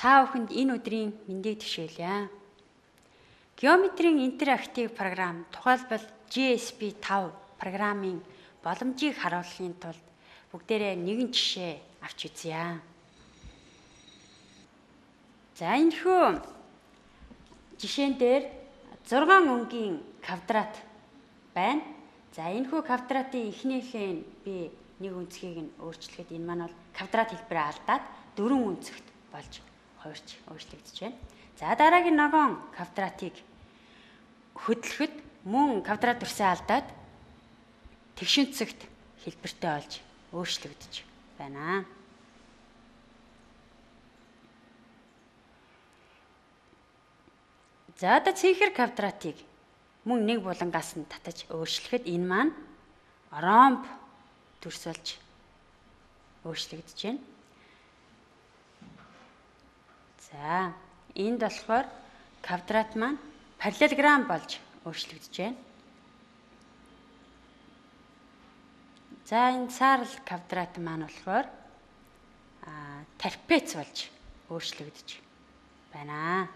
Та бүхэнд энэ өдрийн мэндийг төшөөлье. Геометрийн интерактив програм тухайлбал GSP 5 програмын боломжийг харуулахын тулд бүгдээрээ нэгэн жишээ авч үзье. За энэхүү жишээн дээр 6 өнгийн квадрат байна. За энэхүү квадратын эхнийхээ би нэг өнцгийг нь өөрчлөхөд энэ маань бол квадрат хэлбэрээ алдаад 4 өнцөгт болж хуурч өөрчлөгдөж байна. За дараагийн ногоон квадратыг хөдлөхөд мөн квадрат дүрсээ алдаад тэгшинцэгт хэлбэртэй болж өөрчлөгдөж байна. За одоо цэнхэр квадратыг мөн нэг булангаас нь татаж өөрчлөхөд энэ маань ромб дүрс болж өөрчлөгдөж байна. За энд болохоор квадрат маань параллелограмм болж өөрчлөгдөж байна. За энэ саарл квадрат маань болохоор трапец болж өөрчлөгдөж байна.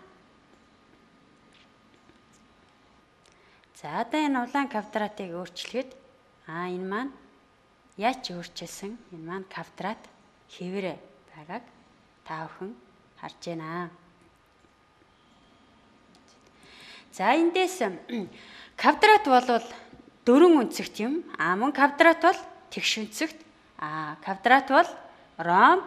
За одоо энэ улаан квадратыг өөрчлөхөд энэ маань яаж өөрчилсөн? Энэ маань квадрат хэвээр байгааг та бүхэн харж байна. За эндээс квадрат бол 4 өнцөгт юм. Мөн квадрат бол тэгш өнцөгт. Квадрат бол ромб,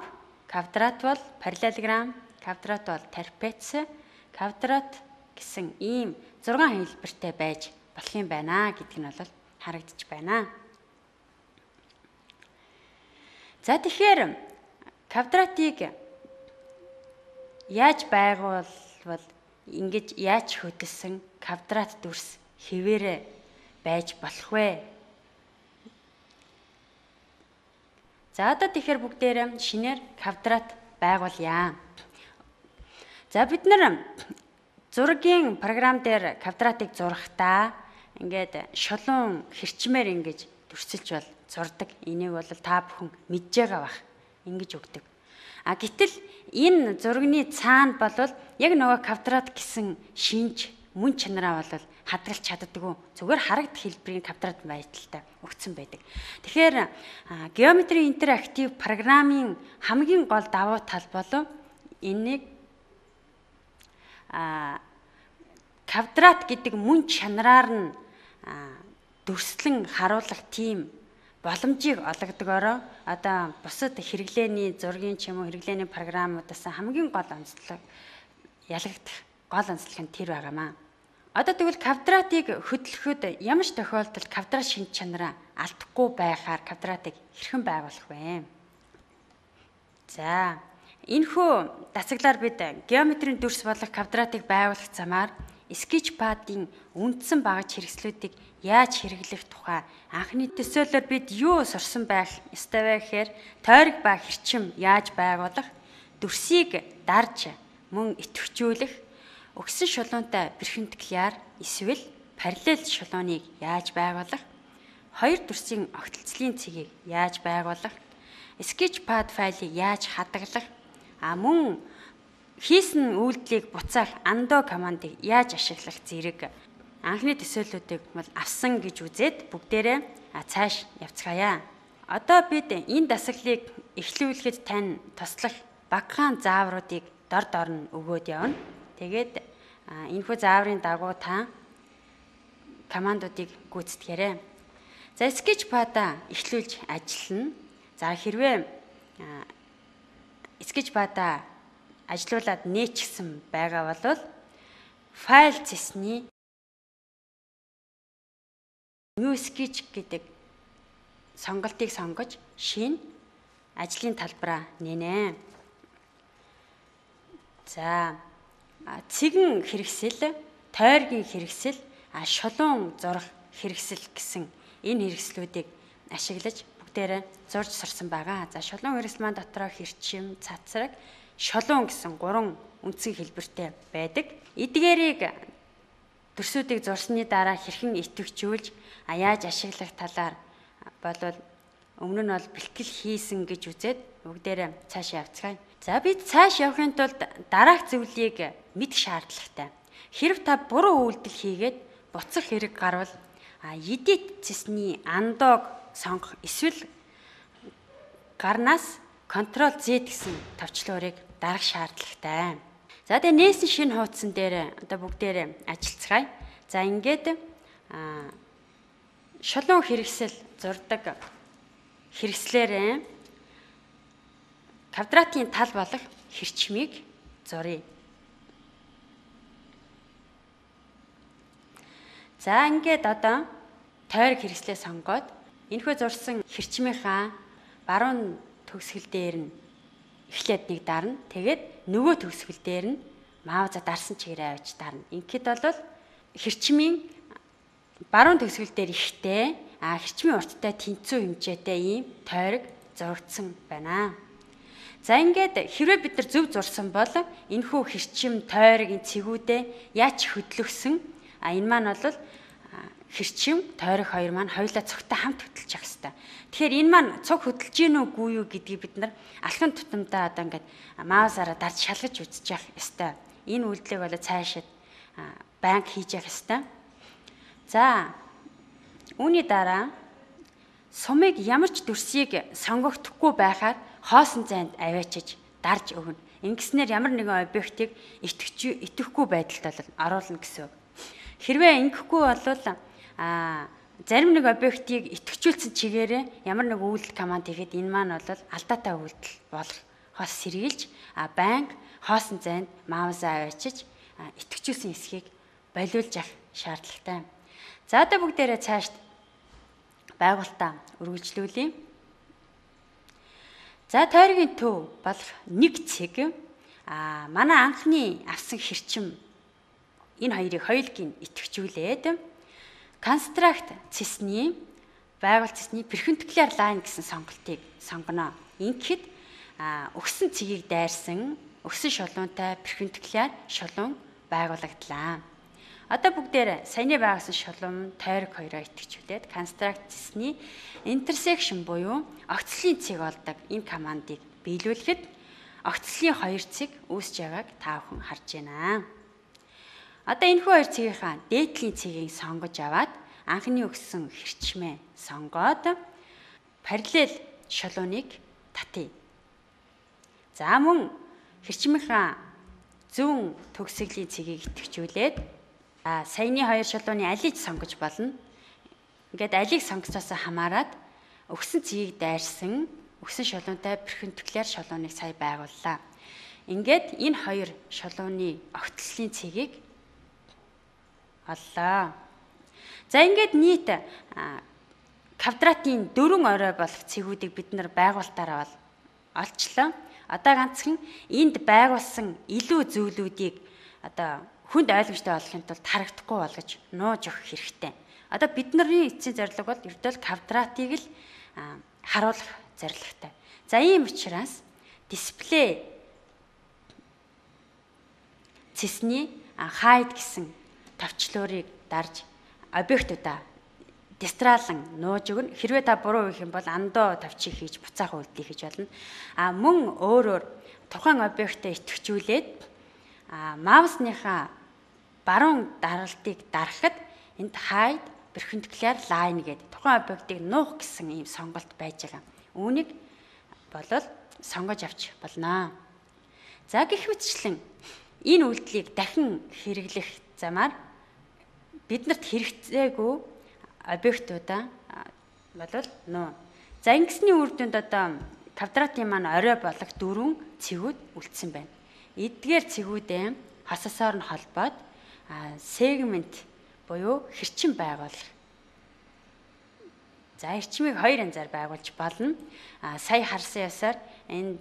квадрат бол параллелограмм, квадрат бол трапец, квадрат гэсэн ийм 6 хэлбэртэй байж болох юм байна гэдг нь бол харагдаж байна. За тэгэхээр квадратыг яаж байгуулвал ингэж яаж хөдөлсөн квадрат дүрс хэвээрээ байж болох вэ? За одоо тэгэхээр бүгдээрээ шинээр квадрат байгуулъя. За бид нар зургийн програм дээр квадратыг зурхдаа ингээд шулуун хэрчмээр ингэж дүрсэлж бол зурдаг. Энийг бол та бүхэн мэдж байгаа бах. Ингэж өгдөг. Гэтэл энэ зургийн цаана болвол яг нөгөө квадрат гэсэн шинж мөн чанараа бол хадгалж чаддаггүй. Зүгээр харагдах хэлбэрийн квадрат байдалтай өгсөн байдаг. Тэгэхээр геометрийн интерактив програмын хамгийн гол давуу тал бол энийг квадрат гэдэг мөн чанараар нь дүрслэн харуулах тийм боломжийг олгодгоороо одоо бусад хэрэглээний зургийн ч юм уу хэрэглээний програмуудаас хамгийн гол онцлог ялгагдах гол онцлог нь тэр байгаамаа. Одоо тэгвэл квадратыг хөдлөхөд ямар ч тохиолдолд квадрат шинж чанараа алдахгүй байхаар квадратыг хэрхэн байгуулах вэ? За энэхүү дацаглаар бид геометрийн дүрс болох квадратыг байгуулах замаар скетчпадын үндсэн багаж хэрэгслүүдийг яаж хэрэглэх тухай анхны төсөөлөөр бид юу сурсан байх ёстой вэ гэхээр тойрог ба хэрчим яаж байгуулах, дүрсийг дарж мөн идэвхжүүлэх, өгсөн шулуунтай перпендикуляр эсвэл параллел шулууныг яаж байгуулах, хоёр дүрсийн огтлцлын цэгийг яаж байгуулах, скетчпад файлыг яаж хадгалах, мөн хийсэн үйлдэлийг буцаах undo командыг яаж ашиглах зэрэг анхны төсөөллүүдийг бол авсан гэж үзээд бүгдээрээ цааш явцгаая. Одоо бид энэ дасгалыг эхлүүлэхэд тань туслах багахан заавруудыг дор нь өгөөд явна. Тэгээд энэхүү зааврын дагуу та командуудыг гүйцэтгээрэй. За скетчпад-а эхлүүлж ажиллана. За хэрвээ скетчпад-а ажлуулад нээчихсэн байгаа бол файл цэсний New Sketch гэдэг сонголтыг сонгож шинэ ажлын талбараа нээнэ. За цэгэн хэрэгсэл, тойргийн хэрэгсэл, шулуун зурах хэрэгсэл гэсэн энэ хэрэгслүүдийг ашиглаж бүгдээрээ зурж сурсан байгаа. За шулуун хэрэгсэл маань дотроо хэрчим, цацраг, шулуун гэсэн 3 үндсэн хэлбэртэй байдаг. Эдгээрийг дүрсүүдийг зурсны дараа хэрхэн идэвхжүүлж яаж ашиглах талаар болвол өмнө нь бол бэлтгэл хийсэн гэж үзээд бүгдээрээ цаашаа явцгаая. За бид цааш явахын тулд дараах зүйлийг мэдэх шаардлагатай. Хэрв та буруу үйлдэл хийгээд буцах хэрэг гарвал эдит цэсний андоог сонгох эсвэл гарнаас Ctrl Z гэсэн товчлуурыг дарах шаардлагатай. За тэгээ нээсэн шинэ хуудсан дээр одоо бүгдээрээ ажиллацгаая. За ингээд шулуун хэрэгсэл зурдаг хэрэгслээрээ квадратын тал болох хэрчмийг зуръя. За ингээд одоо тойрог хэрэгслээ сонгоод энэхүү зурсан хэрчмийнхаа баруун төгсгөл дээр нь эхлээд нэг дарна. Тэгээд нөгөө төгсгөл дээр нь мауза дарсан чигээрээ авч дарна. Ингээд бол хэрчмийн баруун төгсгөл дээр ихтэй хэрчмийн урттай тэнцүү хэмжээтэй ийм тойрог зурагдсан байна. За ингээд хэрвээ бид нар зөв зурсан бол энэхүү хэрчим тойрогийн цэгүүдээ яаж хөдлөгсөн энэ маань бол хэрчим тойрог хоёр маань хоёулаа цогтой хамт хөдөлж явах хэрэгтэй. Тэгэхээр энэ маань цог хөдөлж гин үгүй юу гэдгийг бид нар алхам тутамдаа одоо ингээд маусаараа дарж шалгаж үзэж явах хэрэгтэй. Энэ үйлдэлийг бол цаашид банк хийж явах хэрэгтэй. За үүний дараа сумыг ямар ч дүрсийг сонгогдохгүй байхаар хоосон зайд аваачиж дарж өгнө. Ингэснээр ямар нэгэн объектыг итгэхгүй байдалд оруулна гэсэн үг. Хэрвээ ингэхгүй бол зарим нэг объектыг итгэжүүлсэн чигээрээ ямар нэг үйлдэл команд хийхэд энэ маань бол алдаатай үйлдэл болохоос сэргийлж банк хоосон зайд маусаа аваачиж итгэжүүлсэн хэсгийг болиулж авах шаардлагатай. За одоо бүгдээрээ цаашд байгуулалтаа үргэлжлүүлье. За тойргийн төв болох нэг цэг манай анхны авсан хэрчим энэ хоёрыг хоёулыг идэвхжүүлээд констракт цэсний байгуулт цэсний перпендикуляр лайн гэсэн сонголтыг сонгоно. Ингэхэд өгсөн цэгийг дайрсан өгсөн шулуунтай перпендикуляр шулуун байгуулагдлаа. Одоо бүгдээр саяны байгуулсан шулуун тойрог хоёроо идэвхжүүлээд констракт цэсний интерсекшн буюу огцлын цэг болдог энэ командыг биелүүлэхэд огцлын хоёр цэг үүсэж байгааг та бүхэн харж байна. Одоо энэхүү хоёр цэгийнхаа дээдлийн цэгийг сонгож аваад анхны өгсөн хэрчмээ сонгоод параллел шулууныг татъя. За мөн хэрчмийнхаа зүүн төгсгөлийн цэгийг идэвхжүүлээд саяны хоёр шулууны алийг сонгож болно. Ингээд алийг сонгосоос хамаарат өгсөн цэгийг дайрсан өгсөн шулуунтай перпендикуляр шулууныг сая байгууллаа. Ингээд энэ хоёр шулууны огтлолын цэгийг оллоо. За ингээд нийт квадратын дөрвөн орой болох цэгүүдийг бид нар байгуулалтаараа олчлоо. Одоо ганцхан энд байгуулсан илүү зүйлүүдийг одоо хүнд ойлгомжтой болохын тулд харагдахгүй болгож нууж өгөх хэрэгтэй. Одоо бидний эцсийн зорилго бол ердөө квадратыг л харуулах зорилготой. За ийм учраас дисплей цэсний hide гэсэн товчлуурыг дарж объектуудаа дистраалан нууж өгнө. Хэрвээ та буруу хийх юм бол андоо товчийг хийж буцаах үйлдэл хийж болно. Мөн өөрөөр тухайн объектаа идэвхжүүлээд маусныхаа баруун даралтыг дарахад энд hide perpendicular line гэдэг тухайн объектыг нуух гэсэн ийм сонголт байж байгаа. Үүнийг болол сонгож авч болно. За гэх мэтчлэн энэ үйлдэлийг дахин хэрэглэх замаар биднэрт хэрэгцээгүй объектуудаа болол нуу. За ингэсний үр дүнд одоо квадратын маань орой болох дөрвөн цэгүүд үлдсэн байна. Эдгээр цэгүүдээ хососоор нь холбоод сегмент буюу хэрчим байгуулах. За хэрчмийг хоёр янзаар байгуулж болно. Сая харсан ясаар энэ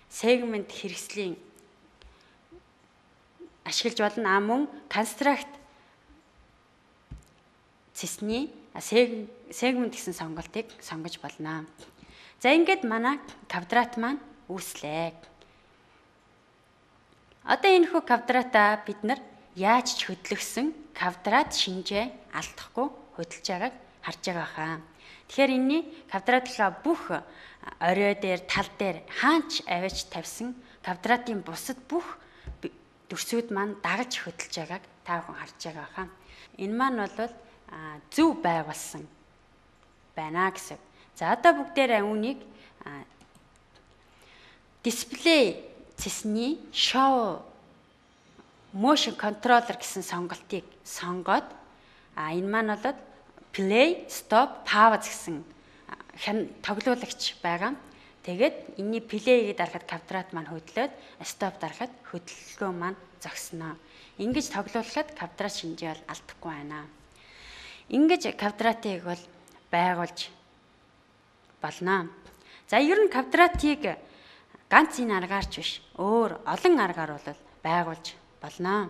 сегмент хэрэгслийн ашиглаж болно. Мөн констракт цэсний сегмент гэсэн сонголтыг сонгож болно. За ингээд манай квадрат маань үүслээ. Одоо энэхүү квадратаа бид нар яаж ч хөдлөгсөн квадрат шинжээ алдахгүй хөдөлж байгааг харж байгаа хаа. Тэгэхээр энэний квадратынхаа бүх орой дээр тал дээр хаанч аваач тавьсан квадратын бусад бүх дүрсүүд маань дагаж хөдөлж байгааг та бүхэн харж байгаа хаа. Энэ маань бол зөв байгуулсан байна гэсэн. За одоо бүгдээрээ үүнийг дисплей цэсний show motion controller гэсэн сонголтыг сонгоод энэ маань бол play, stop, pause гэсэн тоглуулагч байгаа. Тэгээд энэний play-ийг дарахад квадрат маань хөдлөөд stop дарахад хөдөлгөөн маань зогсноо. Ингэж тоглуулахад квадрат шинжээ бол алдахгүй байна. Ингэж квадратыг бол байгуулж болно. За ер нь квадратыг ганц энэ аргаарч биш, өөр олон аргаар бол байгуулж болно.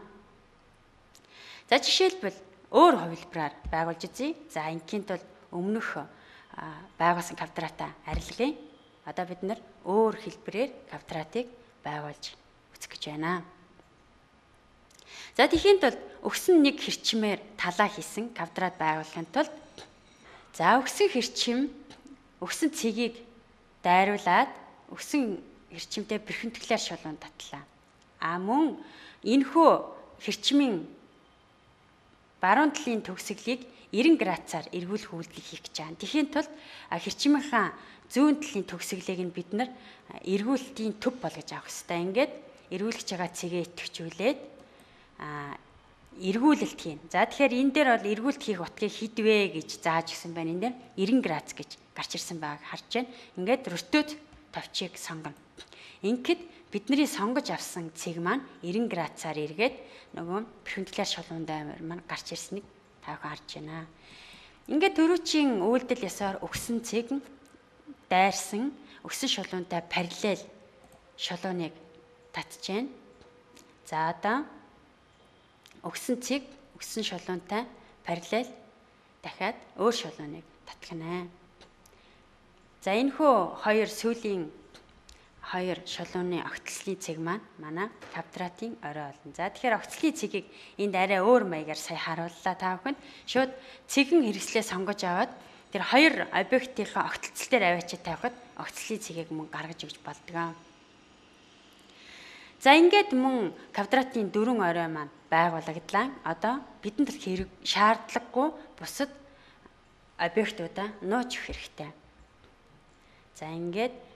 За жишээлбэл өөр хувилбараар байгуулж үзье. За инкийнт бол өмнөх байгуулсан квадратаа арилгая. Одоо бид нар өөр хэлбэрээр квадратыг байгуулж үзэх гэж байна. За тийхээнд бол өгсөн нэг хэрчмээр талаа хийсэн квадрат байгуулахын тулд өгсөн хэрчим өгсөн цэгийг дайруулад өгсөн хэрчимтэй бэрхэмтгэлээр шулуун татлаа. Мөн энэхүү хэрчмийн баруун талын төгсгөлийг 90 градусаар эргүүлэх үйлдэл хийх гэж байна. Тэхийн тулд хэрчмийнхаа зүүн талын төгсгөлийг нь бид нар эргүүлэлтийн төв болгож авах хэрэгтэй. Ингээд эргүүлж байгаа цэгээ идэвхжүүлээд эргүүлэлт хийн. За тэгэхээр энэ дээр бол эргүүлэлт хийх утгыг хідвэ гэж зааж өгсөн байна. Энэ дээр 90 градус гэж гарч ирсэн байгааг харж байна. Ингээд ротот товчийг сонгоно. Ингээд бидний сонгож авсан цэг маань 90 градусаар эргээд нөгөө бэрхэмтгэлээр шулуун маань гарч ирснийг та бүхэн харж байна. Ингээд төрүүчийн үйлдэл ёсоор өгсөн цэг дайрсан өгсөн шулуунтай параллел шулууныг татж байна. За одоо өгсөн цэг өгсөн шулуунтай параллел дахиад өөр шулууныг татгана. За энэхүү хоёр сүүлийн хоёр шулууны огтлсны цэг маань манай квадратын орой болно. За тэгэхээр огтлсны цэгийг энд арай өөр маягаар сая харууллаа та бүхэнд. Шууд цэгэн хэрэгслээ сонгож аваад тэр хоёр объектийнхаа огтлцол дээр аваачаа тавихад огтлсны цэгийг мөн гаргаж өгч болдог. За ингээд мөн квадратын дөрвөн орой маань байгуулагдлаа. Одоо бидэнд хэрэг шаардлагагүй бусад объектуудаа нууж өгөх хэрэгтэй. За ингээд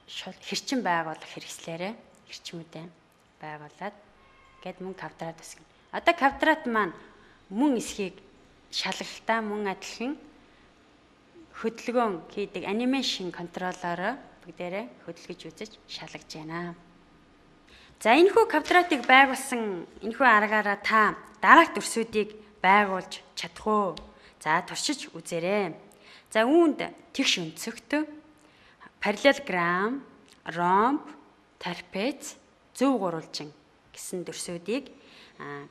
хэрчим байгуулах хэрэгслээрээ хэрчмүүдээ байгуулад гээд мөн квадрат үсгэнэ. Одоо квадрат маань мөн эсхийг шалгалтаа мөн адилхан хөдөлгөөн хийдэг анимашн контроллороо бүгдээрээ хөдөлгөж үзэж шалгаж байна. За энэхүү квадратыг байгуулсан энэхүү аргаараа та дараах дүрсүүдийг байгуулж чадах уу? За туршиж үзээрэй. За үүнд тэгш өнцөгт параллелограмм, ромб, трапез, зөв гурвалжин гэсэн дүрсүүдийг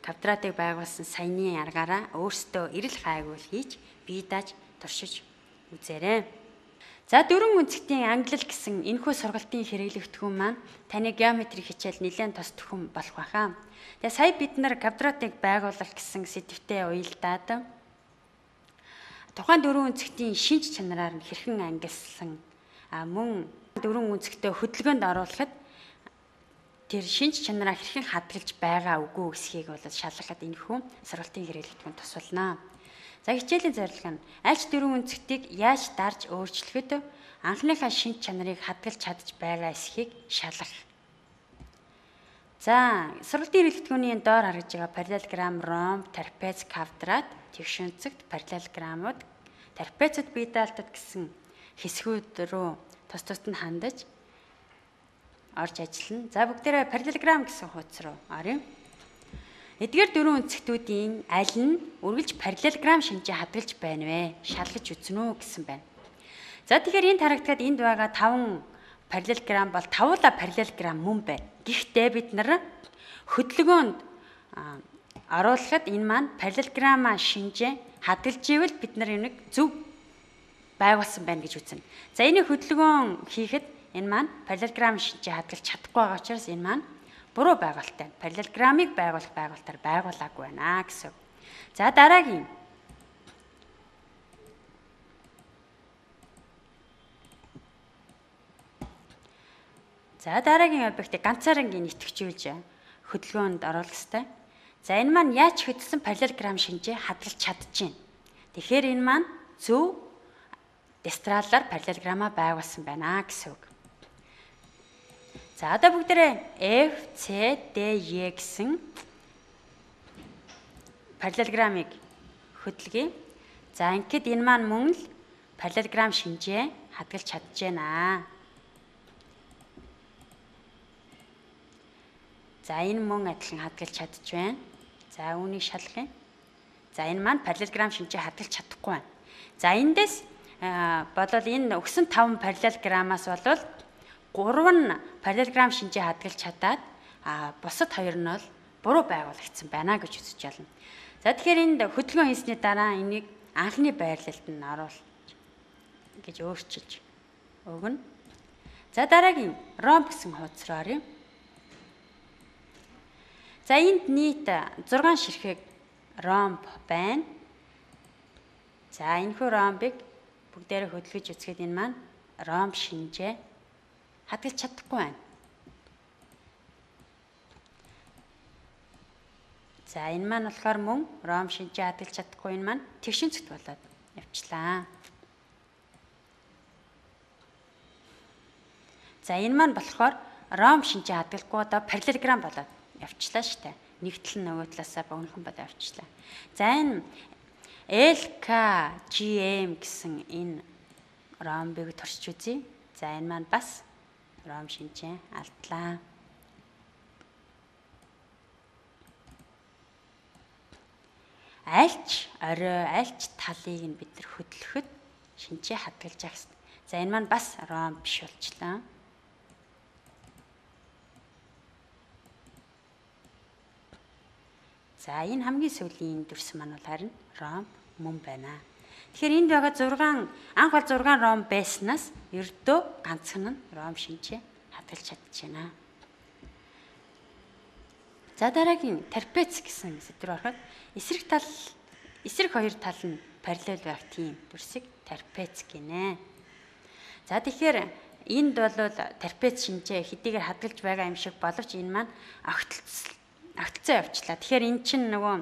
квадратыг байгуулсан саяны аргаараа өөрсдөө эрэл хайгуул хийж бие дааж туршиж үзээрэй. За дөрвөн үнцгтийн ангилал гэсэн энэхүү сургалтын хэрэглэгдэхүүн маань таны геометри хичээл нэлээд тос төхөн болох байхаа. Тэгээ сая бид нар квадратыг байгуулах гэсэн сэдвтэ уялдаад тухайн дөрвөн үнцгтийн шинж чанараар нь хэрхэн ангилсан мөн дөрвөн үнцгтээ хөдөлгөөнд оруулахад тэр шинж чанараа хэрхэн хадгалж байгаа үгүй гэсхийг бол шалгахад энэхүү сургалтын хэрэглэгдэхүүн тус болно. За хичээлийн зорилго нь альч дөрвөн үнцгтийг яаж дарж өөрчлөхөд анхныхаа шинж чанарыг хадгалж чадж байгаа эсхийг шалгах. За сургалтын хэрэглэгдэхүүний доор харагдж байгаа параллелограмм, ромб, трапез, квадрат, тэгш үнцэгт параллелограммууд, трапезууд бие даалтад гэсэн хэсгүүд рүү тус тусад нь хандаж орж ажиллана. За бүгдээрээ параллелограмм гэсэн хуудас руу оръё. Эдгээр дөрвөн үнцгтүүдийн аль нь үргэлж параллелограмм шинжээ хадгалж байна вэ? Шалгаж үзнэ үү гэсэн байна. За тэгэхээр энд харагдахад энд байгаа 5 параллелограмм бол тавуулаа параллелограмм мөн байна. Гэхдээ бид нар хөдөлгөөнд оруулахад энэ маань параллелограмма шинжээ хадгалж ивэл бид нар энийг зөв байгуулсан байна гэж үзнэ. За энийг хөдөлгөөн хийхэд энэ маань параллелограмм шинжээ хадгалж чадахгүй байгаа учраас энэ маань буруу байгуулалттай. Параллелограммыг байгуулах байгуулалтаар байгуулаагүй байна гэсэн. За дараагийн. За дараагийн объектыг ганцаараа идэвхжүүлж хөдөлгөөнд оруулах ёстой. За энэ маань яаж хөдөлсөн параллелограмм шинжээ хадгалж чадчихээн. Тэгэхээр энэ маань зөв дестралаар параллелограмма байгуулсан байна гэсэн үг. За одоо бүгдээрээ F, C, D, E гэсэн параллелограммыг хөдөлгөе. За ингээд энэ маань мөн л параллелограмм шинжээ хадгалж чадчихээнаа. За энэ мөн адилхан хадгалж чадж байна. За үүнийг шалгая. За энэ маань параллелограмм шинжээ хадгалж чадахгүй байна. За эндээс бодвол энэ өгсөн 5 параллелограммаас болвол 3 нь параллелограмм шинжээ хадгалж чадаад бусад 2 нь бол буруу байгуулагдсан байна гэж үзэж байна. За тэгэхээр энд хөдөлгөөн хийсний дараа энийг анхны байрлалд нь оруулж гэж өөрчилж өгнө. За дараагийн ромб гэсэн хуудас руу оръё. За энд нийт 6 ширхэг ромб байна. За энэхүү ромбыг бүгдээрээ хөдөлгөж үзэхэд энэ маань ромб шинжээ хадгалж чадахгүй байна. За энэ маань болохоор мөн ромб шинжээ хадгалж чадахгүй, энэ маань тэгшин цэгт болоод явчлаа. За энэ маань болохоор ромб шинжээ хадгалахгүй одоо параллелограмм болоод явчлаа штэ. Нэг тал нь нөгөө талаасаа богинохон болоод явчлаа. За энэ LKGM гэсэн энэ ромбыг туршиж үзье. За энэ маань бас ромб шинжээ алдлаа. Альч орой, альч талыг нь бид нар хөдлөхөд шинжээ хадгалж авах хэрэгтэй. За энэ маань бас ромб биш болчлаа. За энэ хамгийн сүүлийн дүрс маань бол харин ромб мөн байна. Тэгэхээр энд байгаа 6 анх бол 6 ромб байснаас ердөө ганцхан нь ромб шинжээ хадгалж чадчихна. За дараагийн трапец гэсэн сэдвээр ороход эсрэг хоёр тал нь параллел байх тийм дүрсийг трапец гинэ. За тэгэхээр энд бол трапец шинжээ хэдийгээр хадгалж байгаа юм шиг боловч энэ маань огтлцоо явчлаа. Тэгэхээр эн чинь нөгөө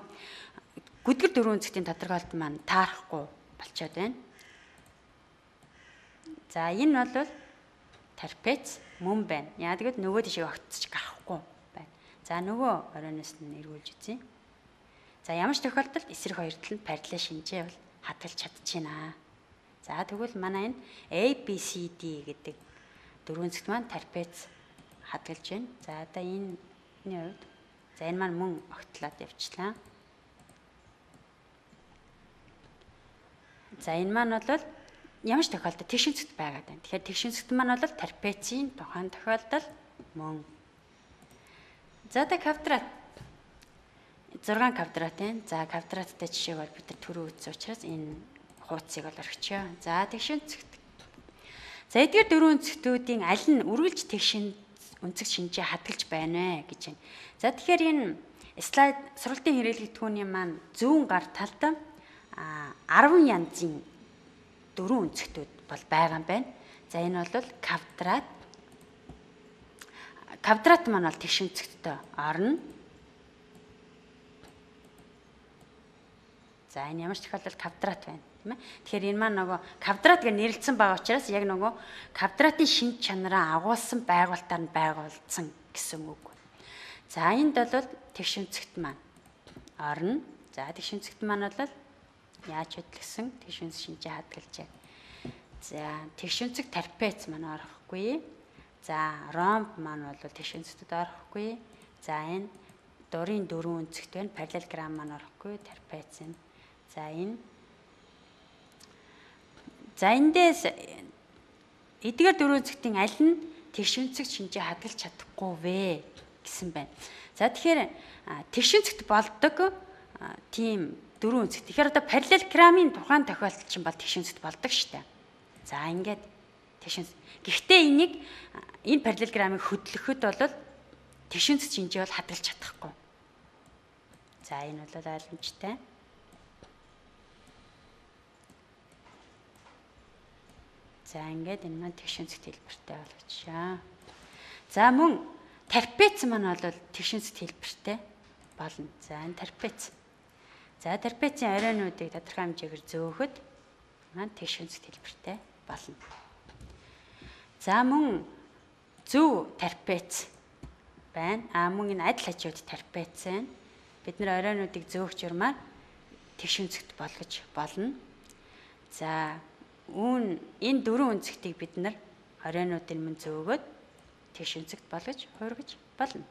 гүдгэр дөрвөн үнцгийн тодорхойлолт маань таарахгүй болчиход байна. За энэ бол трапец мөн байна. Яа гэвэл нөгөө тишээ огтцож гарахгүй байна. За нөгөө оройноос нь эргүүлж үзье. За ямар ч тохиолдолд эсрэг хоёр тал нь параллел шинжээ бол хадгалж чадчихна. За тэгвэл манай энэ ABCD гэдэг дөрвөн үнцэгт маань трапец хадгалж байна. За одоо энэ хувьд за энэ маань мөн огтлоод явчлаа. За энэ маань бол ямар ч тохиолдолд тэгшин цэгт байгаад байна. Тэгэхээр тэгшин цэгт маань бол трапецийн тухайн тохиолдол мөн. За та квадрат 6 квадрат байна. За квадраттай жишээг бол бид нар түрүү үзсэн учраас энэ хуудсыг бол орхичоо. За тэгшин цэгт. За эдгээр дөрвөн үнцгтүүдийн аль нь үргэлж тэгшин үнцэг шинжээ хадгалж байна вэ гэж байна. За тэгэхээр энэ слайд сургалтын хэрэглэгдэхүүний маань зүүн гар талд 10 янзын дөрвөн үнцгтүүд бол байгаа юм байна. За энэ бол квадрат. Квадрат маань бол тэгшин үнцэгттэй орно. За энэ ямар ч тохиолдолд квадрат байна, тийм ээ. Тэгэхээр энэ маань нөгөө квадрат гэж нэрлэлсэн байгаа учраас яг нөгөө квадратын шинж чанараа агуулсан байгуултаар нь байгуулсан гэсэн үг. За энд бол тэгшин үнцэгт маань орно. За тэгшин үнцэгт маань бол яаж хөдлөсөн тэгшин шинжээ хадгалж байна. За тэгшин үнцэг трапец маань орохгүй. За ромб маань бол тэгшин үнцэгтэд орохгүй. За энэ дурын дөрвөн үнцэгт байна. Параллелограмм маань орохгүй. Трапец нь. За энэ. За эндээс эдгээр дөрвөн үнцэгтийн аль нь тэгшин үнцэг шинжээ хадгалж чадахгүй вэ гэсэн байна. За тэгэхээр тэгшин үнцэгт болдог тийм дөрвөн үнцэгт. Тэгэхээр одоо параллелограммын тухайн тохиолдол чинь бол тэгшин үнцэгт болдог шүү дээ. За ингээд тэгшин. Гэхдээ энийг энэ параллелограммыг хөдлөхөд бол тэгшин үнцэг шинжээ бол хадгалж чадахгүй. За энэ бол ойлгомжтой. За ингээд энэ маань тэгшин үнцэгт хэлбэртэй болгочоо. За мөн трапец маань бол тэгшинсэд хэлбэртэй болно. За энэ трапец. За трапецийн оройнуудыг тодорхой хэмжээгээр зөөхөд маань тэгшинсэд хэлбэртэй болно. За мөн зөв трапец байна. Мөн энэ адил хажууд трапец байна. Бид нэр оройнуудыг зөөх журмаар тэгшинсэгт болгож болно. За энэ дөрвөн үнцгтийг бид нар оройнуудын мөн зөөгөөд тэгшинсэгт болгож хуургаж болно.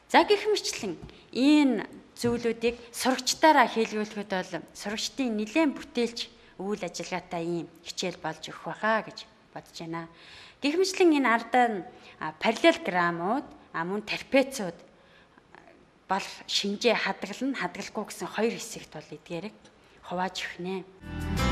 За гэх мэтлэн энэ зүйлүүдийг сурагчдаараа хэлгүүлэхэд бол сурагчдын нэлээд бүтээлч үйл ажиллагаатай ийм хичээл болж өгөх байхаа гэж бодож байна. Гэх мэтлэн энэ ардаа нь параллелограммууд мөн трапецууд болох шинжээ хадгална, хадгалахгүй гэсэн хоёр хэсэгт бол эдгээрийг хувааж өгнэ.